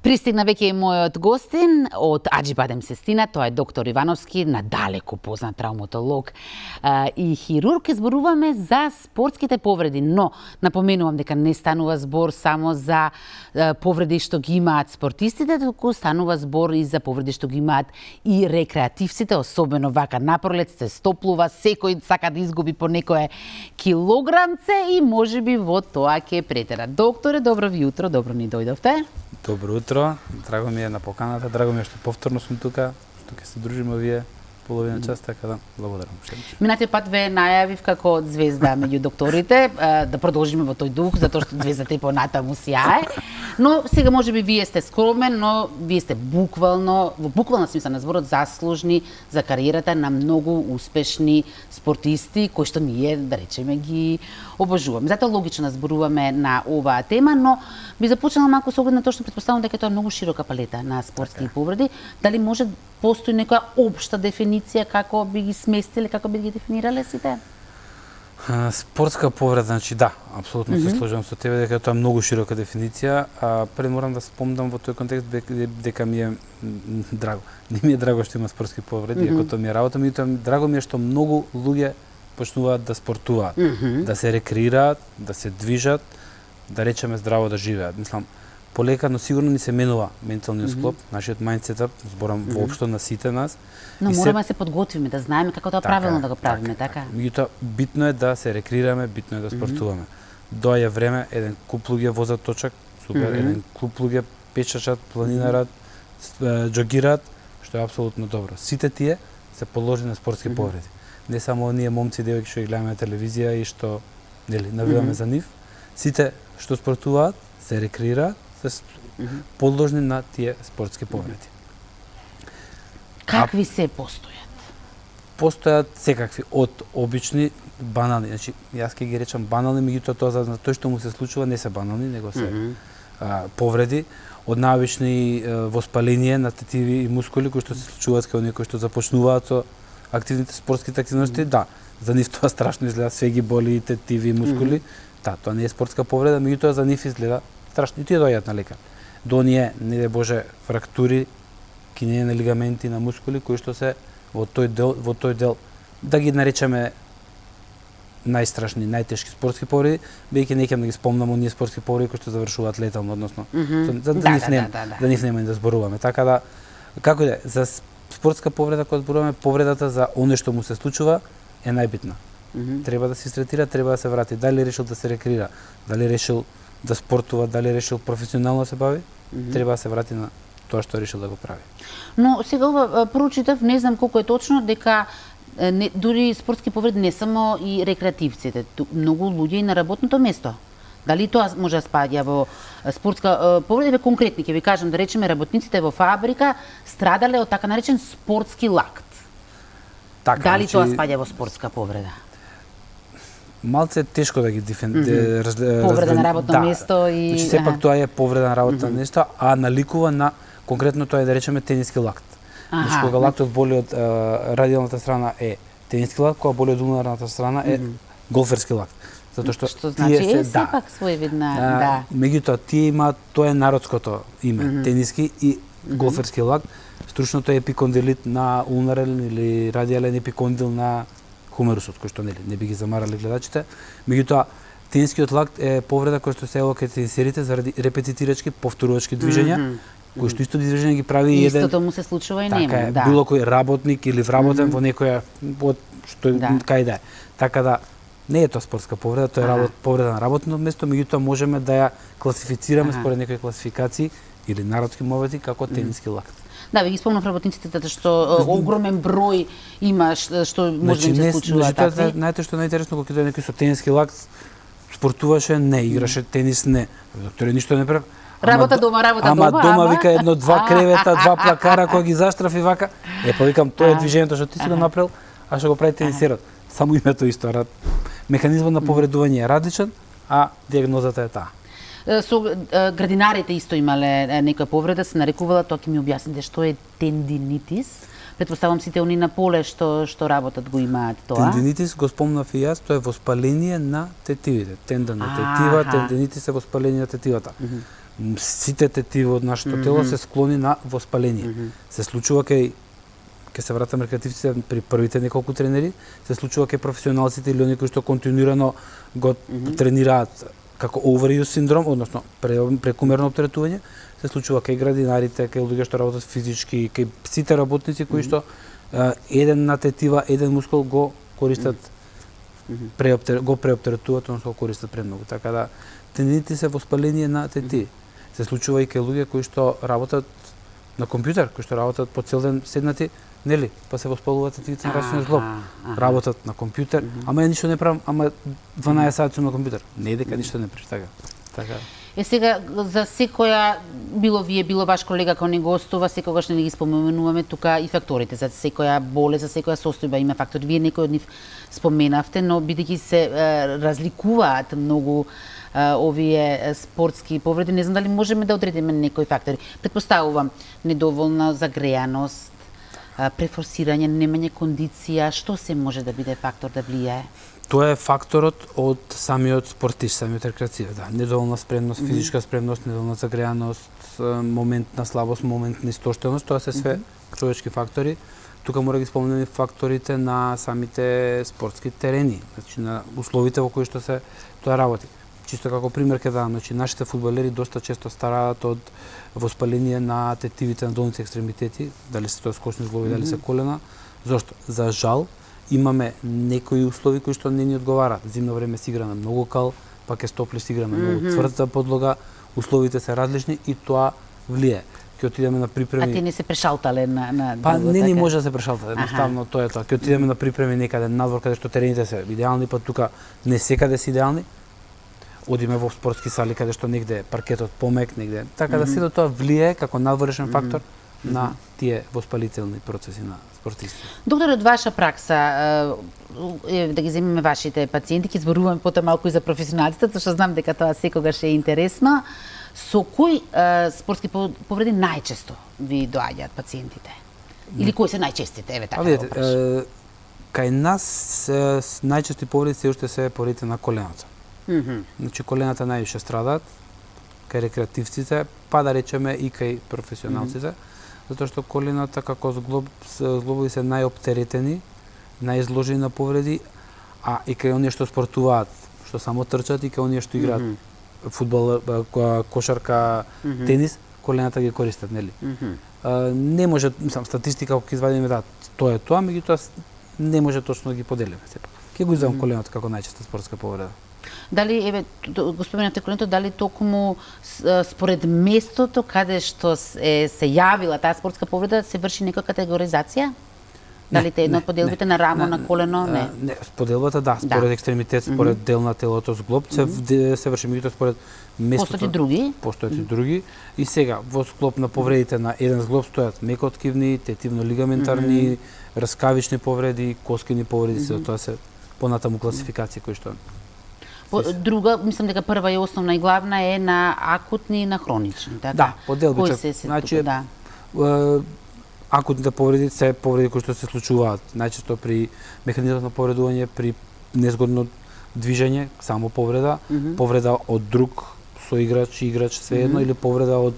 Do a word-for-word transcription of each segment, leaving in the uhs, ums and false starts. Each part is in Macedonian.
Пристигна веќе и мојот гостин од Аџибадем Сестина, тоа е доктор Ивановски, надалеку познат травматолог и хирург. Ке зборуваме за спортските повреди, но напоменувам дека не станува збор само за повреди што ги имаат спортистите, туку станува збор и за повреди што ги имаат и рекреативците, особено вака напролет се стоплува, секој сака да изгуби по некое килограмце и можеби во тоа ќе претера. Докторе, добро ви утро, добро ни дојдовте. Добро утро, драго ми е на поканата, драго ми е што повторно сум тука, што ќе се дружиме овие половина час, така да благодарам. Минатиот пат ве најавив како звезда меѓу докторите, да продолжиме во тој дух, затоа што звездата и понатаму сјае. Но сега можеби вие сте скромен, но вие сте буквално, во буквална смисла на зборот, заслужни за кариерата на многу успешни спортисти, кои што ние, да речеме, ги обожуваме. Затоа логично да зборуваме на оваа тема, но би започнала малку со оглед на тоа што претпоставувам дека тоа е многу широка палета на спортски така повреди. Дали може постои некоја општа дефиниција како би ги сместиле, како би ги дефинирале сите? Спортска повреда, значи да, апсолутно mm -hmm. се сложувам со тебе дека тоа е многу широка дефиниција, а пред морам да спомнам во тој контекст дека ми е драго. Не ми е драго што има спортски повреди, mm -hmm. ако тоа ми е работа, меѓутоа драго ми е што многу луѓе почнуваат да спортуваат, mm -hmm. да се рекреираат, да се движат, да речеме здраво да живеат. Мислам, полека, но сигурно ни се менува менталниот склоп, mm -hmm. нашиот мајндсетап, зборам mm -hmm. воопшто на сите нас. Но мораме да се подготвиме, да знаеме како тоа правилно да го правиме, така? Меѓутоа, битно е да се рекреираме, битно е да спортуваме. Mm -hmm. Доаѓа време, еден куп луѓе возат точак, супер, mm -hmm. еден куп луѓе пешачат, планинарат, mm -hmm. джогираат, што е апсолутно добро. Сите тие се подложени на спортски mm -hmm. повреди. Не само оние момци, девојки што ги гледаме на телевизија и што, нели, навиваме mm -hmm. за нив. Сите што спортуваат, се рекреираат, се mm -hmm. подложни на тие спортски повреди. Какви се постојат? Постојат секакви, од обични, банални, значи јас ќе ги речам банални, меѓутоа тоа за тој што му се случува не се банални, него се mm -hmm. а, повреди, од најобични воспаление на тетиви и мускули кои што се случуваат кај оние кои што започнуваат со активните спортските активности, mm -hmm. да, за нив тоа страшно изгледа, све ги боли тетиви и мускули, mm -hmm. да, тоа не е спортска повреда, меѓутоа за нив изгледа страшно и тие доаѓаат на лекар. До оние, не де Боже, фрактури, кинење на лигаменти, на мускули кои што се во тој дел, во тој дел да ги наречеме најстрашни, најтешки спортски повреди, бејќи не ќе да ги спомнам оние спортски повреди кои што завршуваат летално, односно mm -hmm. за, за да, да, нив нема, да, да, да. да нив нема да зборуваме. Така да, како и да е, за спортска повреда кога зборуваме, повредата за оне што му се случува е најбитна. Mm -hmm. Треба да се истретира, треба да се врати. Дали решил да се рекреира, дали решил да спортува, дали решил професионално да се бави, mm -hmm. треба да се врати на тоа што решил да го прави. Но сега ова прочитав, не знам колку е точно, дека не, дури спортски повреди не само и рекреативците, многу луѓе и на работното место. Дали тоа може да спаѓа во спортска повреди? Конкретни ќе ви кажам, да речеме работниците во фабрика страдале од така наречен спортски лакт. Така, дали значи, тоа спаѓа во спортска повреда? Малце е тешко да ги дефин... Mm -hmm. раз, повреда раз, на работно да, место и... Значи, сепак тоа е повреда на работно mm -hmm. место, а наликува на, конкретно тоа е да речеме тениски лакт. Значи, кога лактот боли од радиалната страна е тениски лакт, кога боли од улнарната страна е mm -hmm. голферски лакт. Затоа што, што значи тие се, е сепак да, своевидна, да. Меѓутоа, тие имаат, тоа е народското име, mm -hmm. тениски и голферски лакт. Стручното е епикондилит на улнарен или радиален епикондил на хумерусот, кој што нели не би ги замарали гледачите. Меѓутоа, тенискиот лакт е повреда која што се ево кај тенисерите заради репетитирачки, повторувачки движења, mm -hmm. кои што исто движење ги прави и еден... Истото му се случува и нема, така е, да. Било кој работник или вработен mm -hmm. во некоја, од што да. кај да е. Така да, не е тоа спортска повреда, тоа е работ, повреда на работно место, меѓутоа можеме да ја класифицираме според некои класификации или народски мовети како тениски mm -hmm. лакт. Да, ви ги спомнав работниците, затоа што огромен број има што може значи, да им се случува значи, такви. Значи, знаете што најинтересно, кога ќе дојде некој со тениски лакт, спортуваше, не, играше тенис, не. Докторе ништо не прави. Работа дома, работа ама, дома. Ама дома вика едно, два кревета, два плакара, кога ги заштрафи вака. Е, па викам, тоа е движењето што ти си го направил, а што го прави тенисерот. Само името исто. Механизмот на повредување е различен, а диагнозата е таа. Со градинарите исто имале некоја повреда, се нарекувала, тоа ќе ми објасните што е тендинитис. Претпоставам сите они на поле што што работат го имаат тоа. Тендинитис го спомнав и јас, тоа е воспаление на тетивите. Тендан на тетива, тендинитис е воспаление на тетивата. сите тетиви од нашето mm -hmm. тело се склони на воспаление. Mm -hmm. Се случува кај ќе се вратам рекреативците при првите неколку тренери, се случува кај професионалците или оние кои што континуирано го mm -hmm. тренираат како overuse синдром, односно прекумерно оптеретување, се случува кај градинарите, кај луѓе што работат физички, кај сите работници кои што uh, еден на тетива, еден мускул го користат mm -hmm. преоптер, го преоптеретуваат, односно го користат премногу. Така да тендените се воспаление на тетиви. Mm -hmm. Се случува и кај луѓе кои што работат на компјутер, кои што работат по цел ден седнати, нели, па се воспалуваат тетивите на рачниот зглоб. Работат на компјутер, mm -hmm. ама ја ништо не правам, ама дванаесет сати на компјутер. Не дека ништо не правиш, така. Така. Е сега за секоја било вие, било ваш колега кој не гостува, секогаш не ги споменуваме тука и факторите. За секоја болест, за секоја состојба има фактори. Вие некој од нив споменавте, но бидејќи се е, разликуваат многу е, овие спортски повреди, не знам дали можеме да одредиме некои фактори. Претпоставувам недоволна загреаност, префорсирање, немање кондиција, што се може да биде фактор да влијае? Тоа е факторот од самиот спортист, самиот рекреативен, да, недоволна спремност, физичка спремност, недоволна загреаност, момент на слабост, момент на истоштеност, тоа се све човечки фактори. Тука мора да ги спомнеме факторите на самите спортски терени, значи на условите во кои што се тоа работи. Чисто како пример ќе дадам, значи нашите фудбалери доста често стараат од воспаление на тетивите на долните екстремитети, дали се тоа скочни зглоби, mm -hmm. дали се колена. Зошто? За жал имаме некои услови кои што не ни одговараат. Зимно време се игра на многу кал, пак е стопли се игра на многу mm -hmm. тврда подлога, условите се различни и тоа влијае. Ќе отидеме на припреми. А ти не се прешалтале на на Па не ни може да се прешалтале, едноставно тоа е тоа. Ќе отидеме на припреми некаде надвор каде што терените се идеални, па тука не секаде се идеални. Одиме во спортски сали каде што негде паркетот помек, негде. Така да сето тоа влијае како надворешен фактор на тие воспалителни процеси на спортисти. Доктор, од ваша пракса, е, да ги земеме вашите пациенти, ќе зборуваме потоа малку и за професионалците, затоа што знам дека тоа секогаш е интересно. Со кои е, спортски повреди најчесто ви доаѓаат пациентите? Или кои се најчестите? Еве така. Видете, е, кај нас е, најчести повреди се уште се повредите на колената. Mm -hmm. Значи колената највише страдаат кај рекреативците, па да речеме и кај професионалците, mm -hmm. затоа што колената како зглоб, зглобови се најоптеретени, најизложени на повреди, а и кај оние што спортуваат, што само трчат, и кај оние што играат mm -hmm. фудбал, кошарка, mm -hmm. тенис, колената ги користат, нели? Mm -hmm. а, не може, мислам, статистика ако ќе извадиме, да, тоа е тоа, меѓутоа не може точно да ги поделиме сепак. Ќе го извадам mm -hmm. коленото како најчеста спортска повреда. Дали, еве, го споменавте коленото, дали токму според местото каде што е, се јавила таа спортска повреда, се врши некоја категоризација? Дали те едно од поделбите на рамо, не, на колено, не? Не, поделбата да, според да. екстремитет, според mm -hmm. дел на телото, зглоб, се, mm -hmm. се врши, меѓутоа според местото. Постојат и други? Постојат и други. И сега, во склоп на повредите на еден зглоб стојат мекоткивни, тетивно-лигаментарни, mm -hmm. раскавични повреди, коскини повреди, mm -hmm. се тоа се понатаму класификација кои што друга, мислам дека прва и основна и главна е на акутни и на хронични, така? Да, поделбичок. Значи, да. Е, акутните повреди се повреди кои што се случуваат најчесто при механизмот на повредување, при незгодно движење, само повреда, mm -hmm. повреда од друг соиграч, играч, свеедно, mm -hmm. или повреда од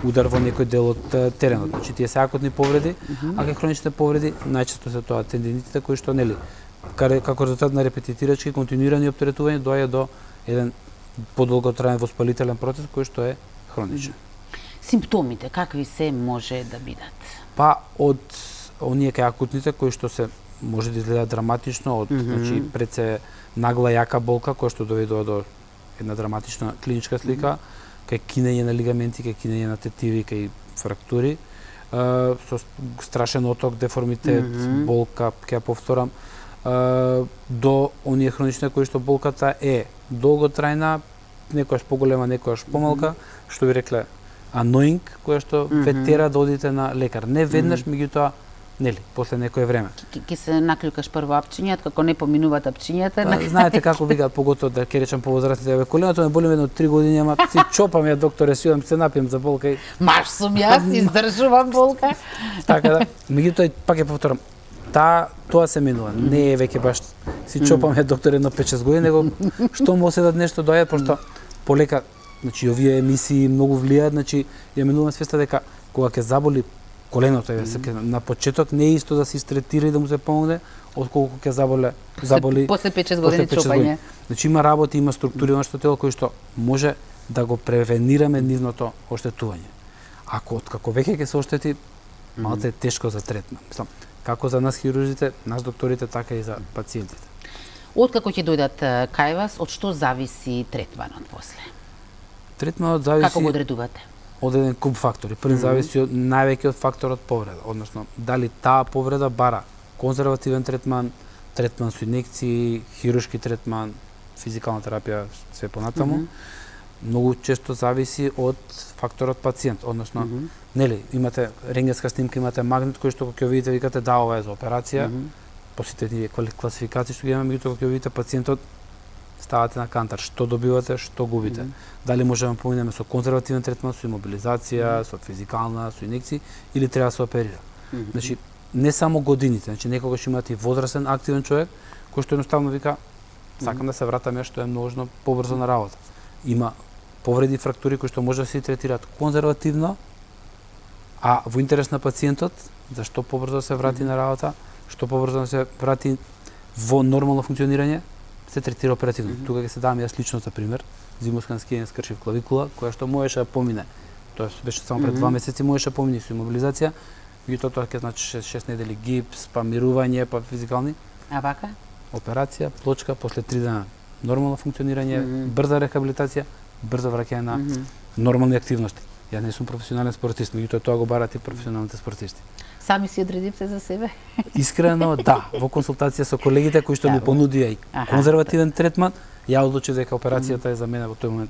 удар во некој дел од теренот. Значи, тие се акутни повреди, mm -hmm. а кај хроничните повреди најчесто се тоа тендинитите кои што, нели, како резултат на репетитирачки континуирани оптеретување доаѓа до еден подолготраен воспалителен процес кој што е хроничен. Симптомите какви се може да бидат? Па од оние кај акутните кои што се може да изгледаат драматично, од mm -hmm. значи пред се нагла јака болка која што доведува до една драматична клиничка слика, mm -hmm. кај кинење на лигаменти, кај кинење на тетиви, кај фрактури, uh, со страшен оток, деформитет, mm -hmm. болка, ќе ја повторам, Uh, до оние хронични кои што болката е долготрајна, некојаш поголема, некојаш помалка, mm -hmm. што ви рекле annoying, која што mm -hmm. ве тера да одите на лекар. Не веднаш, mm -hmm. меѓутоа, нели, после некое време. Ке се наклюкаш прво апчињата, како не поминуваат апчињата. Uh, знаете како викаат, поготово да ќе речам повозрастните, еве коленото ме боли едно три години, ама си чопам ја докторе, си одам се напијам за болка и маш сум јас, издржувам болка. Така да, меѓутоа пак ја повторам. Та, тоа се минува. Не е веќе баш си чопаме доктор едно пет шест години, него што му седат нешто доаѓа, пошто полека Значи овие емисии многу влијаат, значи ја менуваме свеста дека кога ќе заболи коленото, mm -hmm. на почеток не е исто да се истретира и да му се помогне, отколку ќе заболе заболи после пет-шест години чупање. Значи има работи, има структури на нашето тело кои што може да го превенираме нивното оштетување. Ако откако веќе ќе се оштети, малце е тешко за третман. Мислам, како за нас хирурзите, нас докторите, така и за пациентите. Откако ќе дојдат кај вас, од што зависи третманот после? Третманот зависи Како го одредувате? Од еден куп фактори. Први mm -hmm. зависи од највеќе од факторот повреда, односно дали таа повреда бара конзервативен третман, третман со инекции, хируршки третман, физикална терапија, све понатаму. Mm -hmm. Многу често зависи од факторот пациент, односно, mm -hmm. нели, имате рентгенска снимка, имате магнет кој што кога ќе видите викате да, ова е за операција. Mm -hmm. После тие класификации што ги имаме, меѓутоа кога ќе видите пациентот, ставате на кантар, што добивате, што губите. Mm -hmm. Дали можеме да поминеме со конзервативен третман, со имобилизација, mm -hmm. со физикална, со инекции, или треба да се оперира. Mm -hmm. Значи, не само годините, значи некогаш имате и возрастен активен човек кој што едноставно вика сакам mm -hmm. да се вратам ја што е можно побрзо на работа. Има повреди, фрактури кои што може да се третираат конзервативно, а во интерес на пациентот, зашто побрзо да се врати mm -hmm. на работа, што побрзо да се врати во нормално функционирање, се третира оперативно. Mm -hmm. Тука ќе се дам јас лично за пример, зимоскан скијање скршив клавикула, која што можеше да помине. Тоа беше само пред mm -hmm. два месеци, можеше да помине со имобилизација, меѓутоа тоа ќе значи шест недели гипс, па мирување, па физикални. А вака? Операција, плочка, после три дена нормално функционирање, mm -hmm. брза рехабилитација, брзо враќање на mm -hmm. нормални активности. Ја не сум професионален спортист, меѓутоа тоа го барат и професионалните спортисти. Сами си одредивте за себе? Искрено, да. Во консултација со колегите кои што да, ми понудија и конзервативен третман, ја одлучив дека операцијата mm -hmm. е за мене во тој момент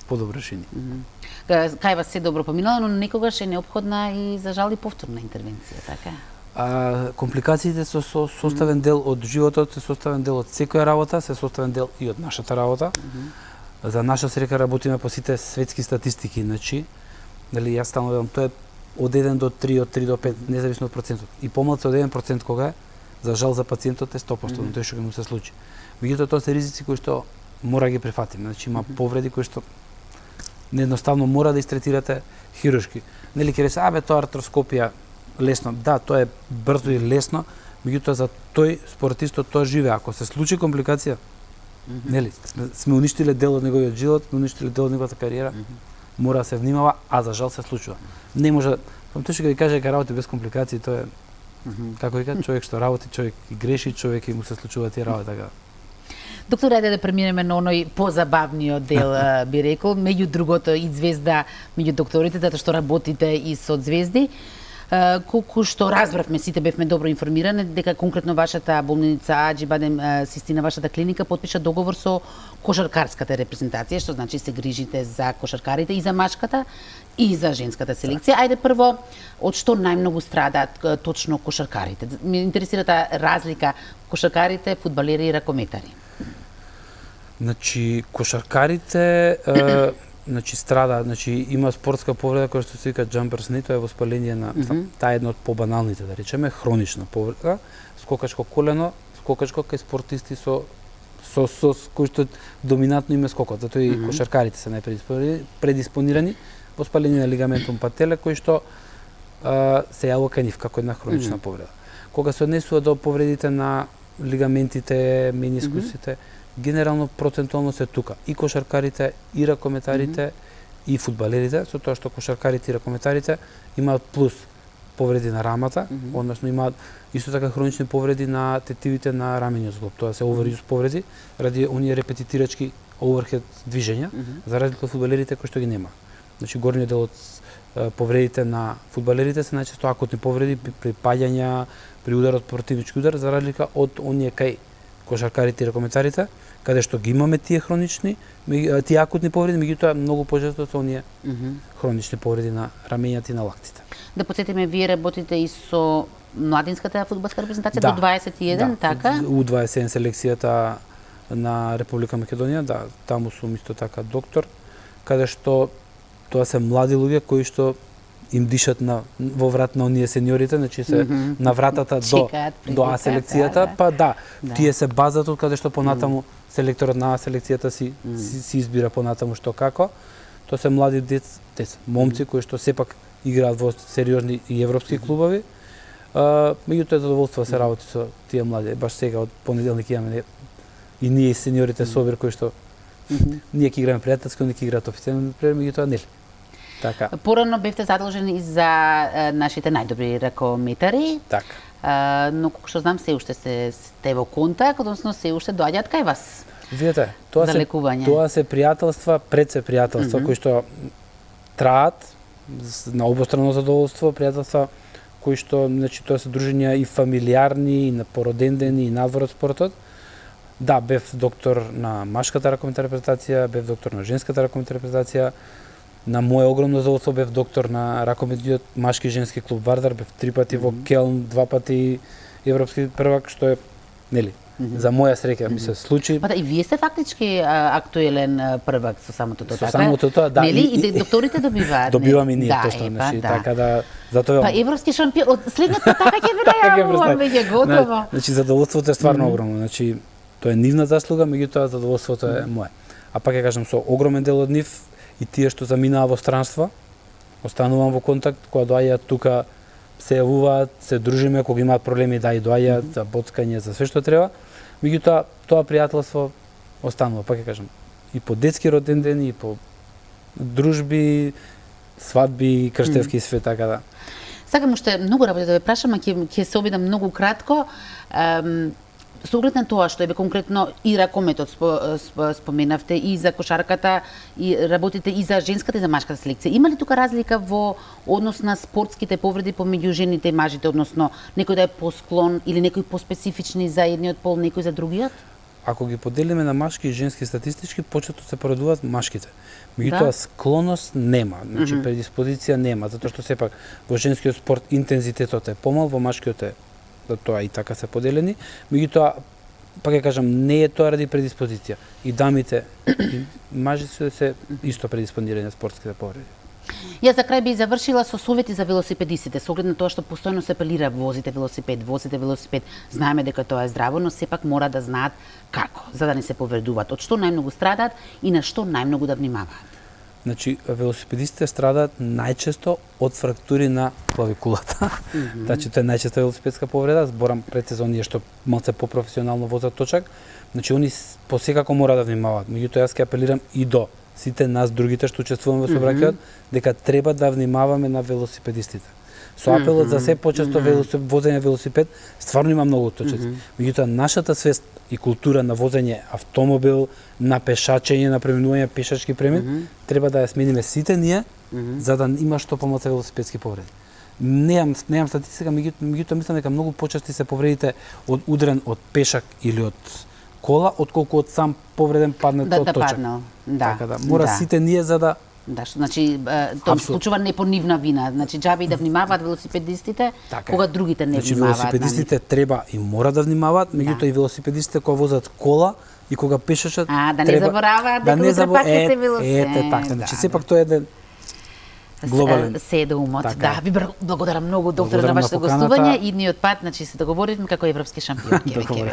подобро решение. Mm -hmm. Кај вас се добро поминало, но некогаш е неопходна и за жал и повторна интервенција, така? А, компликациите со, со составен дел од животот, се составен дел од секоја работа, се составен дел и од нашата работа. Mm -hmm. За наша среќа работиме по сите светски статистики, значи, нели јас стално велам, тоа е од еден до три, од три до пет, независно од процентот. И помалку од еден процент кога е, за жал за пациентот е сто проценти, mm -hmm. тоа што ќе му се случи. Меѓутоа тоа се ризици кои што мора ги прифатиме. Значи има повреди кои што неедноставно мора да истретирате хируршки. Нели ќе рече, абе тоа артроскопија лесно. Да, тоа е брзо и лесно, меѓутоа за тој спортистот тоа живее. Ако се случи компликација, mm -hmm. нели, сме уништиле дел од неговиот живот, уништиле дел од неговата кариера. Mm -hmm. Мора да се внимава, а за жал се случува. Не може, тоа што ќе ви каже дека работи без компликации, тоа е mm -hmm. како вика, човек што работи, човек и греши, човек и му се случува тие работи така. Доктор, ајде да преминеме на оној позабавниот дел, би рекол, меѓу другото и звезда меѓу докторите, затоа што работите и со звезди. Колку што разбравме, сите бевме добро информирани, дека конкретно вашата болница Аџи Систина, вашата клиника, потпиша договор со кошаркарската репрезентација, што значи се грижите за кошаркарите и за машката и за женската селекција. Ајде прво, од што најмногу страдаат точно кошаркарите? Ме интересира таа разлика кошаркарите, фудбалери и ракометари. Значи, кошаркарите е, значи страда, значи има спортска повреда која што се вика jumper's knee, тоа е воспаление на mm -hmm. таа е една од побаналните, да речеме, хронична повреда, скокачко колено, скокачко кај спортисти со со со, со кои што доминантно име скокот, затоа и mm -hmm. кошаркарите се најпредиспонирани воспаление на лигаментум пателе кој што а, се јавува кај нив како една хронична mm -hmm. повреда. Кога се однесува до повредите на лигаментите, менискусите, mm -hmm. генерално процентуално се тука и кошаркарите, и ракометарите, mm -hmm. и фудбалерите, со тоа што кошаркарите и ракометарите имаат плюс повреди на рамата, mm -hmm. односно имаат исто така хронични повреди на тетивите на рамениот зглоб. Тоа се overuse повреди ради оние репетитирачки overhead движења, mm -hmm. за разлика од фудбалерите кои што ги нема. Значи горниот дел од повредите на фудбалерите се најчесто акутни повреди при паѓања, при ударот противнички удар, за разлика од оние кај кошаркарите и ракометарите, каде што ги имаме тие хронични, тие акутни повреди, меѓутоа многу почесто се оние mm -hmm. хронични повреди на рамењата и на лактите. Да подсетиме, вие работите и со младинската фудбалска репрезентација да, до дваесет и еден, да, така? У дваесет и еден селекцијата на Република Македонија, да, таму сум исто така доктор, каде што тоа се млади луѓе кои што им дишат на во врат на оние сениорите, значи се mm -hmm. на вратата до до А селекцијата, да, па да, да, тие се базат од каде што понатаму mm -hmm. селекторот на А селекцијата си, mm -hmm. си си избира понатаму што како. тоа се млади деца, деца момци кои што сепак играат во сериозни и европски клубови. А, меѓутоа е задоволство да се работи со тие млади. Баш сега од понеделник имаме и ние и сениорите собир кои што mm -hmm. ние ќе играме пријателски, они ќе играат официјално, меѓутоа нели. Така. Порано бевте задолжени за а, нашите најдобри ракометари. Така. А, но колку што знам се уште се сте во контакт, односно се уште доаѓаат кај вас. Видете, тоа за се лекување. Тоа се пријателства, пред се пријателства mm -hmm. кои што траат на обострано задоволство, пријателства кои што, значи, тоа се дружења и фамилиарни, и на породендени, и надвор од спортот. Да, бев доктор на машката ракометна репрезентација, бев доктор на женската ракометна репрезентација. На моје огромно задоволство бев доктор на ракометниот машки и женски клуб Вардар, бев три пати mm -hmm. во Келн, два пати европски првак, што е, нели, mm -hmm. за моја среќа ми се случи. Па да, и вие сте фактички а, актуелен а, првак со самото тоа, со така? самото тоа, да. Нели, и, и докторите добиваат. Добиваме и ние да, точно, е, па, значи, да. така да, затоа Па европски шампион, од следната така ќе биде јавувам, веќе готово. Значи задоволството е стварно mm -hmm. огромно, значи тоа е нивна заслуга, меѓутоа задоволството е мое. А пак ќе кажам, со огромен дел од нив и тие што заминаа во странство, останувам во контакт, кога доаѓаат тука се јавуваат, се дружиме, кога имаат проблеми да и доаѓаат mm -hmm. за боцкање, за све што треба. Меѓутоа тоа пријателство останува, пак ќе кажам, и по детски роден ден, и по дружби, свадби, крштевки и све така да. Сакам уште многу работи да ве прашам, а ќе ќе се обидам многу кратко. Ем, Со оглед на тоа што е конкретно и ракометот споменавте, и за кошарката, и работите и за женската и за машката селекција. Има ли тука разлика во однос на спортските повреди помеѓу жените и мажите, односно некој да е посклон или некој поспецифични за едниот пол, некој за другиот? Ако ги поделиме на машки и женски статистички, почетно се поредуваат машките. Меѓутоа, да? Склоност нема, значи mm -hmm. предиспозиција нема, затоа што сепак во женскиот спорт интензитетот е помал, во машкиот е да тоа и така се поделени. Меѓутоа, пак ќе кажам, не е тоа ради предиспозиција. И дамите, и мажите се исто предиспонирани на спортските повреди. Јас за крај би завршила со совети за велосипедистите, со оглед на тоа што постојано се апелира возите велосипед, возите велосипед. Знаеме дека тоа е здраво, но сепак мора да знаат како, за да не се повредуваат, од што најмногу страдаат и на што најмногу да внимаваат. Значи, велосипедистите страдаат најчесто од фрактури на клавикулата. Mm -hmm. Значи, тоа е најчеста велосипедска повреда, зборам пред сезонија што малце попрофесионално возат точак. Значи, они посекако мора да внимаваат. Меѓутоа, јас ќе апелирам и до сите нас другите што учествуваме во сообраќајот, mm -hmm. дека треба да внимаваме на велосипедистите. Со апелот mm -hmm. за се почесто mm -hmm. возење велосипед, стварно има многу точаци. Mm -hmm. Меѓутоа, нашата свест и култура на возење автомобил, на пешачење, на преминување пешачки премин, mm -hmm. треба да ја смениме сите ние, mm -hmm. за да има што помалку велосипедски повреди. Неам неам статистика, меѓутоа мислам дека многу почести се повредите од удрен од пешак или од кола, отколку од сам повреден паднат да, од да точак. Паднал. Да, така да, мора да. сите ние за да Да, што значи тоа случува не по нивна вина, значи џаби и да внимаваат велосипедистите, така кога другите не значи, внимаваат. Значи велосипедистите треба и мора да внимаваат, меѓутоа да. И велосипедистите кога возат кола и кога пешачат, а да не треба, забораваат дека да утре пак ќе се велосипед. Ете така, значи да, сепак тоа е еден глобален. Се до умот. Така. Да, ви благодарам многу доктор на вашето гостување. Идниот пат, значи се договоривме како европски шампион ќе веќе.